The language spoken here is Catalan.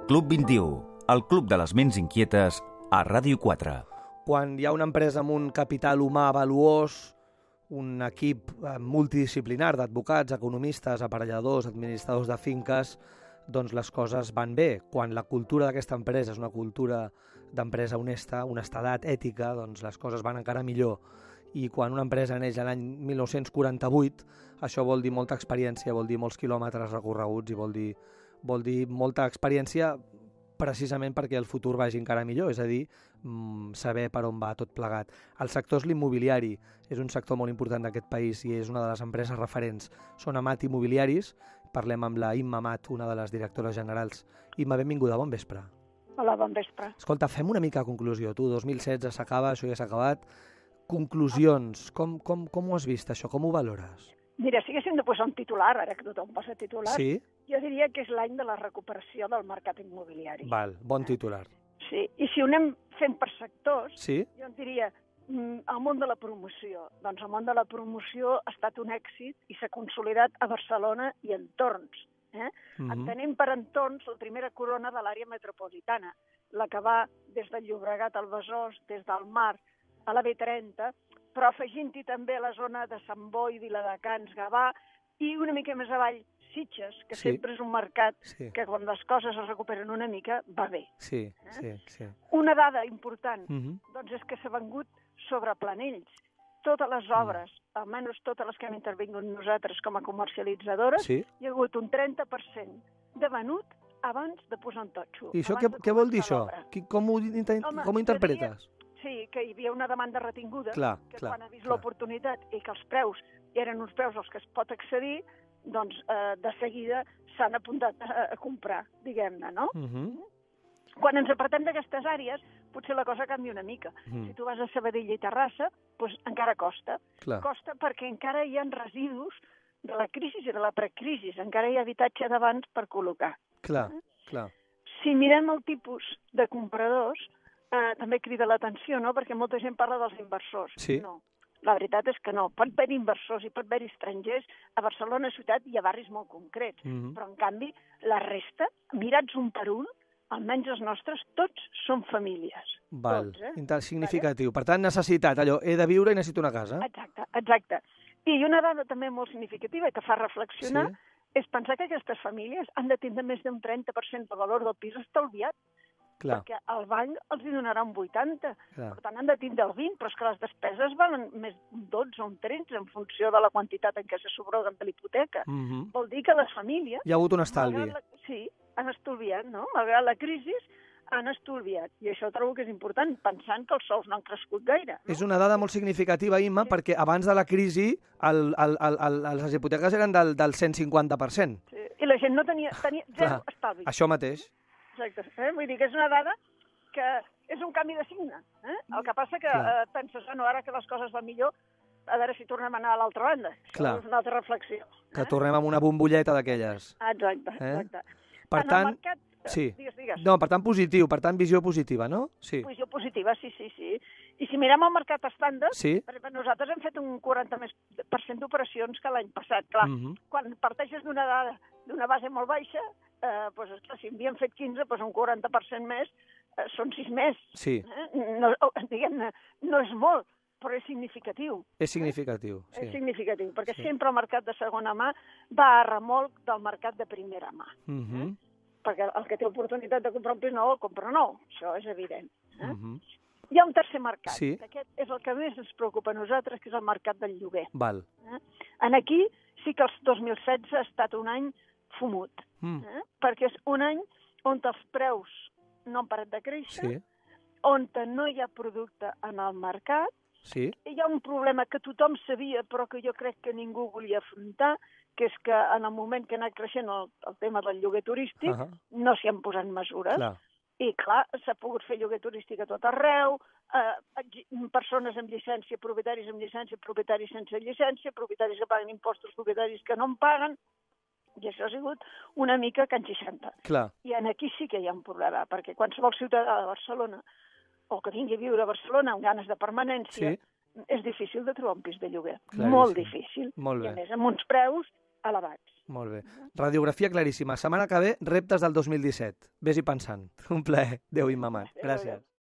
Club 21, el club de les ments inquietes a Ràdio 4. Quan hi ha una empresa amb un capital humà valuós, un equip multidisciplinar d'advocats, economistes, aparelladors, administradors de finques, doncs les coses van bé. Quan la cultura d'aquesta empresa és una cultura d'empresa honesta, honestedat, ètica, doncs les coses van encara millor. I quan una empresa neix l'any 1948, això vol dir molta experiència, vol dir molts quilòmetres recorreguts i vol dir molta experiència precisament perquè el futur vagi encara millor, és a dir, saber per on va tot plegat. El sector és l'immobiliari, és un sector molt important d'aquest país i és una de les empreses referents. Són Amat Immobiliaris, parlem amb la Imma Amat, una de les directores generals. Imma, benvinguda, bon vespre. Hola, bon vespre. Escolta, fem una mica de conclusió. Tu, 2016 s'acaba, això ja s'ha acabat. Conclusions, com ho has vist això, com ho valores? Mira, si haguéssim de posar un titular, ara que tothom posa titular, Sí? jo diria que és l'any de la recuperació del mercat immobiliari. Val, bon titular. Sí, i si ho anem fent per sectors, Sí? jo en diria el món de la promoció. Doncs el món de la promoció ha estat un èxit i s'ha consolidat a Barcelona i entorns. Entenem per entorns la primera corona de l'àrea metropolitana, la que va des del Llobregat al Besòs, des del Mar a la B30, però afegint-hi també la zona de Sant Boi, Viladecans, Gavà, i una mica més avall, Sitges, que Sí. sempre és un mercat Sí. que quan les coses es recuperen una mica va bé. Sí. Una dada important, Mhm. doncs és que s'ha vengut sobre planells. Totes les obres, almenys totes les que hem intervingut nosaltres com a comercialitzadores, Sí? hi ha hagut un 30% de venut abans de posar un totxo. I això abans de què vol dir, començar això? l'obra. Com ho Home, jo interpretes? Sí, que hi havia una demanda retinguda, Clar, que clar, quan ha vist clar. l'oportunitat i que els preus eren uns preus als que es pot accedir, doncs de seguida s'han apuntat a comprar, diguem-ne, no? Mhm. Quan ens apartem d'aquestes àrees, potser la cosa canvia una mica. Mhm. Si tu vas a Sabadell i Terrassa, doncs encara costa. Clar. Costa perquè encara hi ha residus de la crisi i de la precrisi, encara hi ha habitatge d'abans per col·locar. Clar. Si mirem el tipus de compradors, també crida l'atenció, no? Perquè molta gent parla dels inversors. Sí. No, la veritat és que no. Pot haver inversors i pot haver estrangers. A Barcelona ciutat hi ha barris molt concrets, Mhm. però en canvi la resta, mirats un per un, almenys els nostres, tots són famílies. Val, Tots, significatiu. Per tant, necessitat, allò, he de viure i necessito una casa. Exacte. I una dada també molt significativa que fa reflexionar Sí. és pensar que aquestes famílies han de tindre més d'un 30% del valor del pis estalviat, Clar, perquè el banc els hi donarà un 80%. clar. Per tant, han de tindre el 20%, però és que les despeses valen més d'un 12 o un 13% en funció de la quantitat en què se subroguen de l'hipoteca. Mhm. Vol dir que les famílies... Hi ha hagut un estalvi. Sí, han estalviat, no? Malgrat la crisi, han estalviat. I això trobo que és important, pensant que els sous no han crescut gaire. No? És una dada molt significativa, Imma, perquè abans de la crisi les hipoteques eren del 150%. Sí. I la gent no tenia zero Clar, estalvi. això mateix. Exacte. Vull dir que és una dada que és un canvi de signe. El que passa que Clar. penses, ara que les coses van millor, a veure si tornem a anar a l'altra banda. Clar. Això és una altra reflexió. Que tornem amb una bombolleta d'aquelles. Exacte. Per En el tant, mercat, sí. Digues. No, per tant, positiu, per tant, visió positiva, no? Sí. Posició positiva, sí. I si mirem el mercat estàndard, Sí. per exemple, nosaltres hem fet un 40% d'operacions que l'any passat. Clar, Mhm. quan parteixes d'una base molt baixa, doncs, esclar, si havíem fet 15, doncs un 40% més són 6 més. Sí, No, diguem-ne, no és molt, però és significatiu. és significatiu. És Sí. significatiu, perquè Sí. sempre el mercat de segona mà va a remolc del mercat de primera mà. Mhm. Perquè el que té oportunitat de comprar un pis nou, el compra nou. Això és evident. Mhm. Hi ha un tercer mercat. Sí. Aquest és el que més ens preocupa a nosaltres, que és el mercat del lloguer. Val. En aquí sí que el 2016 ha estat un any fumut, perquè és un any on els preus no han parat de créixer, Sí, on no hi ha producte en el mercat, sí. hi ha un problema que tothom sabia però que jo crec que ningú volia afrontar, que és que en el moment que ha anat creixent el tema del lloguer turístic no s'hi han posat mesures. Clar. I clar, s'ha pogut fer lloguer turístic a tot arreu, persones amb llicència, propietaris amb llicència, propietaris sense llicència, propietaris que paguen impostos, propietaris que no en paguen, i això ha sigut una mica can 60. Clar. I aquí sí que hi ha un problema, perquè qualsevol ciutadà de Barcelona, o que vingui a viure a Barcelona amb ganes de permanència, Sí. és difícil de trobar un pis de lloguer. Claríssim. Molt difícil. Molt I bé. a més amb uns preus elevats. Molt bé. Radiografia claríssima. Setmana que ve, reptes del 2017. Ves-hi pensant. Un plaer. Adéu, Imma Mas. Gràcies.